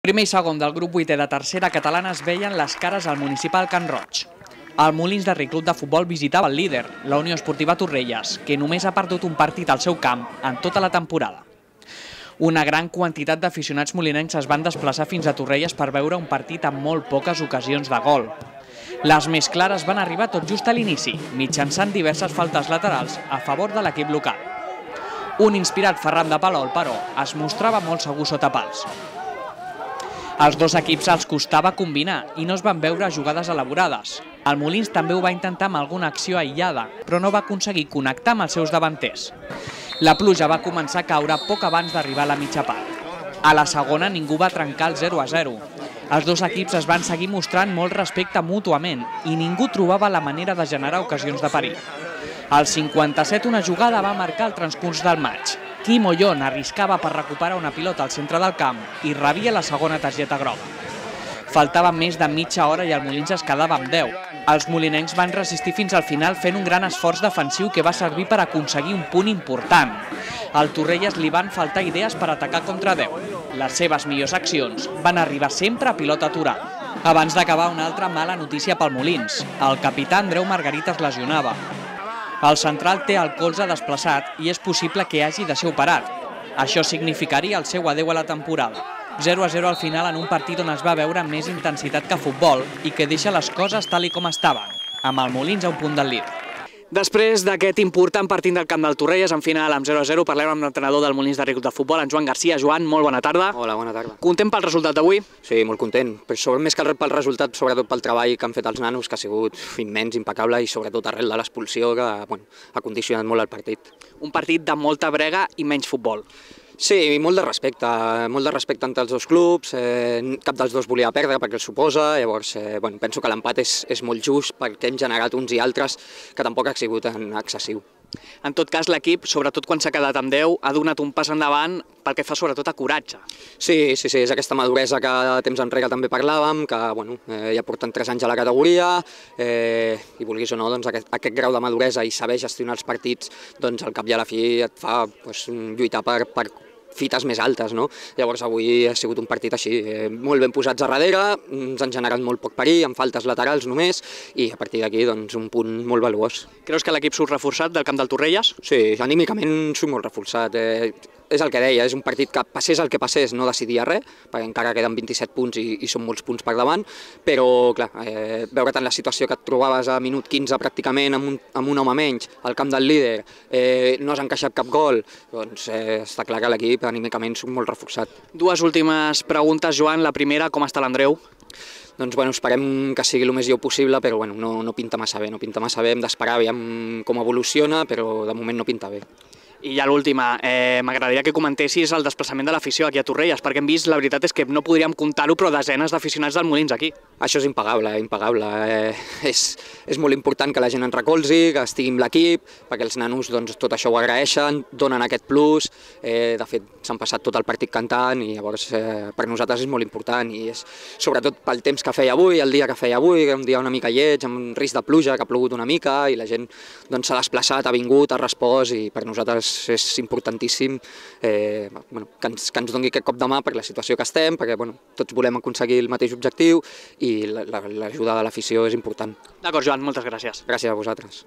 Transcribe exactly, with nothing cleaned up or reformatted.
Primer i segon del grup vuitè de tercera catalana es veien les cares al municipal Can Roig. El Molins de Rei Club de Futbol visitava el líder, la Unió Esportiva Torrelles, que només ha perdut un partit al seu camp en tota la temporada. Una gran quantitat d'aficionats molinencs es van desplaçar fins a Torrelles per veure un partit amb molt poques ocasions de gol. Les més clares van arribar tot just a l'inici, mitjançant diverses faltes laterals a favor de l'equip local. Un inspirat Ferran de Palol, però, es mostrava molt segur sota pals. Als dos equips els costava combinar i no es van veure jugades elaborades. El Molins també ho va intentar amb alguna acció aïllada, però no va aconseguir connectar amb els seus davanters. La pluja va començar a caure poc abans d'arribar a la mitja part. A la segona ningú va trencar el zero a zero. Els dos equips es van seguir mostrant molt respecte mútuament i ningú trobava la manera de generar ocasions de perill. Al cinquanta-set una jugada va marcar el transcurs del maig. Quim Ollón arriscava per recuperar una pilota al centre del camp i rebia la segona targeta groga. Faltava més de mitja hora i el Molins es quedava amb deu. Els molinencs van resistir fins al final fent un gran esforç defensiu que va servir per aconseguir un punt important. Al Torrelles li van faltar idees per atacar contra deu. Les seves millors accions van arribar sempre a pilota aturada. Abans d'acabar, una altra mala notícia pel Molins. El capità Andreu Margarit es lesionava. El central té el colze desplaçat i és possible que hagi de ser operat. Això significaria el seu adeu a la temporada. zero a zero al final en un partit on es va veure més intensitat que futbol i que deixa les coses tal i com estaven, amb el Molins a un punt del líder. Després d'aquest important partit del camp del Torrelles, en final amb zero a zero, parlem amb l'entrenador del Molins de Rei Club de Futbol, en Joan Garcia. Joan, molt bona tarda. Hola, bona tarda. Content pel resultat d'avui? Sí, molt content. Però sobre, més que pel resultat, sobretot pel treball que han fet els nanos, que ha sigut immens, impecable, i sobretot arrel de l'expulsió, que bueno, ha condicionat molt el partit. Un partit de molta brega i menys futbol. Sí, i molt de respecte, molt de respecte entre els dos clubs, eh, cap dels dos volia perdre perquè el suposa, llavors eh, bueno, penso que l'empat és, és molt just perquè hem generat uns i altres que tampoc ha sigut excessiu. En tot cas, l'equip, sobretot quan s'ha quedat amb deu, ha donat un pas endavant pel que fa sobretot a coratge. Sí, sí, sí, és aquesta maduresa que temps enrere també parlàvem, que bueno, eh, ja porten tres anys a la categoria, eh, i vulguis o no, doncs, aquest, aquest grau de maduresa i saber gestionar els partits, doncs al cap i a la fi et fa doncs, lluitar per, per fites més altes, no? Llavors avui ha sigut un partit així, eh, molt ben posats a darrere, ens han generat molt poc perill, amb faltes laterals només, i a partir d'aquí doncs, un punt molt valuós. Creus que l'equip surt reforçat del camp del Torrelles? Sí, anímicament surt molt reforçat. Eh, és el que deia, és un partit que passés el que passés no decidia res, perquè encara queden vint-i-set punts i, i són molts punts per davant, però clar, eh, veure't en la situació que et trobaves a minut quinze pràcticament amb un, amb un home menys, al camp del líder, eh, no has encaixat cap gol, doncs eh, està clar que l'equip anímicament surt molt reforçat. Dues últimes preguntes, Joan. La primera, com està l'Andreu? Doncs bueno, esperem que sigui el més lleu possible, però bueno, no, no pinta massa bé, no pinta massa bé, hem d'esperar aviam com evoluciona, però de moment no pinta bé. I ja l'última, eh, m'agradaria que comentessis el desplaçament de l'afició aquí a Torrelles, perquè hem vist, la veritat és que no podríem comptar-ho, però desenes d'aficionats del Molins aquí. Això és impagable, impagable. Eh, és, és molt important que la gent ens recolzi, que estigui amb l'equip, perquè els nanos doncs, tot això ho agraeixen, donen aquest plus, eh, de fet s'han passat tot el partit cantant i llavors eh, per nosaltres és molt important i és sobretot pel temps que feia avui, el dia que feia avui, un dia una mica lleig, amb risc de pluja, que ha plogut una mica i la gent s'ha doncs, desplaçat, ha vingut, ha respost i per nosaltres és importantíssim eh, bueno, que, ens, que ens doni aquest cop de mà per la situació que estem, perquè bueno, tots volem aconseguir el mateix objectiu i l'ajuda de l'afició és important. D'acord, Joan, moltes gràcies. Gràcies a vosaltres.